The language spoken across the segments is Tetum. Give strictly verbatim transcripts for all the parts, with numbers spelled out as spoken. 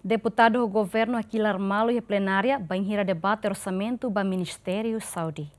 Deputadu ho governu hakilar malu iha plenária bainhira debate orsamentu ba Ministériu Saúde.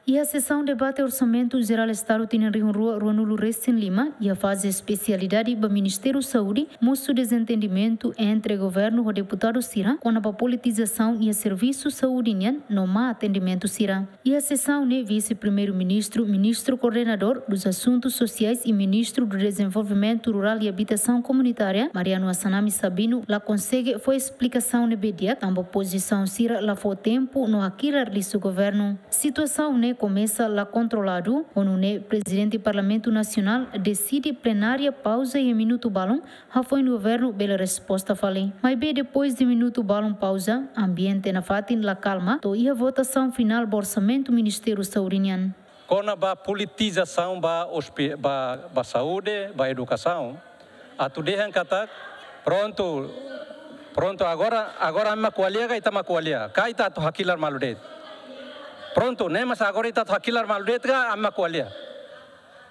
Iha sesaun debate Orsamentu Jerál Estadu tinan rihun rua ruanulu resin lima, iha faze espesialidade ba Ministériu Saúde, mosu dezentendimentu entre governu ho deputadu sira kona-ba politizasaun iha servisu saúde nian no má atendimentu sira. Iha sesaun ne'e, Vise-Primeiru-Ministru, Ministru Koordenadór dos Asuntus Sosiais i Ministru do Dezenvolvimentu Rurál i Abitasaun Komunitária, Mariano Assanami Sabino, la konsege fó esplikasaun ne'ebé di'ak, tanba opozisaun sira la fó tempu no hakilar lisu governu. Situasaun ne'e komesa la kontroladu, ho nune'e Prezidente Parlamentu Nasionál deside plenária pauza iha minutu balun, hafoin governu bele resposta fali. Maibé depois de minutu balun pauza, ambiente nafatin la kalma, to'o iha votasaun finál ba orsamentu Ministériu Saúde nian. Kona-ba politizasaun ba hospi-, ba, ba saúde, ba edukasaun, atu dehan katak, prontu, prontu, agora, agora ami mak ko'alia ka ita mak ko'alia? Ka ita atu hakilar malu de'it? Prontu, ne'e mós agora ita atu hakilar malu de'it ka ami mak ko'alia?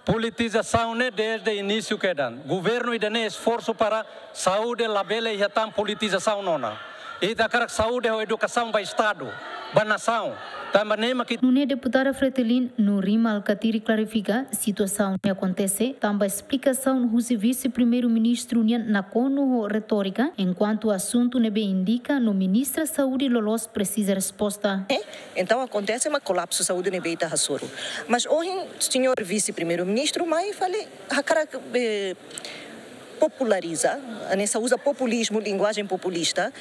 Politizasaun ne'e desde inísiu kedan. Governu ida-ne'e esforsu para saúde labele iha tan politizasaun ona. Ita hakarak saúde ho edukasaun ba Estadu, ba nasaun. Tanba ne'e mak it- Nune'e deputada Fretilin, Nurima Alkatiri, klarifika situasaun ne'e akontese tanba esplikasaun husi Vise-Primeiru-Ministru nian nakonu ho retórika, enkuantu asuntu ne'ebé indika no Ministra Saúde loloos presiza resposta. Entaun akontese mak kolapsu saúde ne'ebé ita hasoru. Mas ohin, señór Vise-Primeiru-Ministru mai fali hakarak, eh, populariza, hanesan uza populizmu, linguajen populista,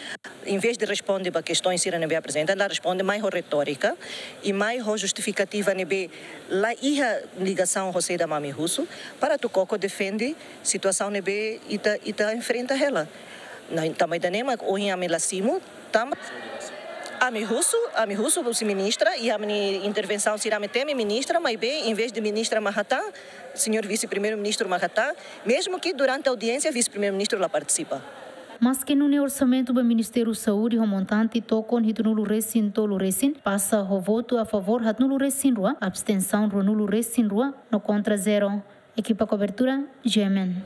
em vez de responde ba kestoins sira ne'ebé aprezenta, la responde, mai ho retórika i mai ho justifikativa ne'ebé la iha ligasaun ho saida mak ami husu, para atu koko defende situasaun ne'ebé ita, ita enfrenta hela. Ne'e, tanba ida-ne'e mak ohin ami la simu, tanba ami husu, ami husu husi ministra, iha ami-nia intervensaun sira ami temi ministra, maibé, em vez de ministra mak hatán, señór Vise-Primeiru-Ministru mak hatán, mezmu ke durante audiénsia Vise-Primeiru-Ministru la partisipa. Maske nune'e, orsamentu ba Ministériu Saúde ho montante tokon hitunulu resin tolu resin pasa ho votu a favór haatnulu resin rua, abstensaun ruanulu resin rua no kontra zero. Ekipa kobertura, G M N.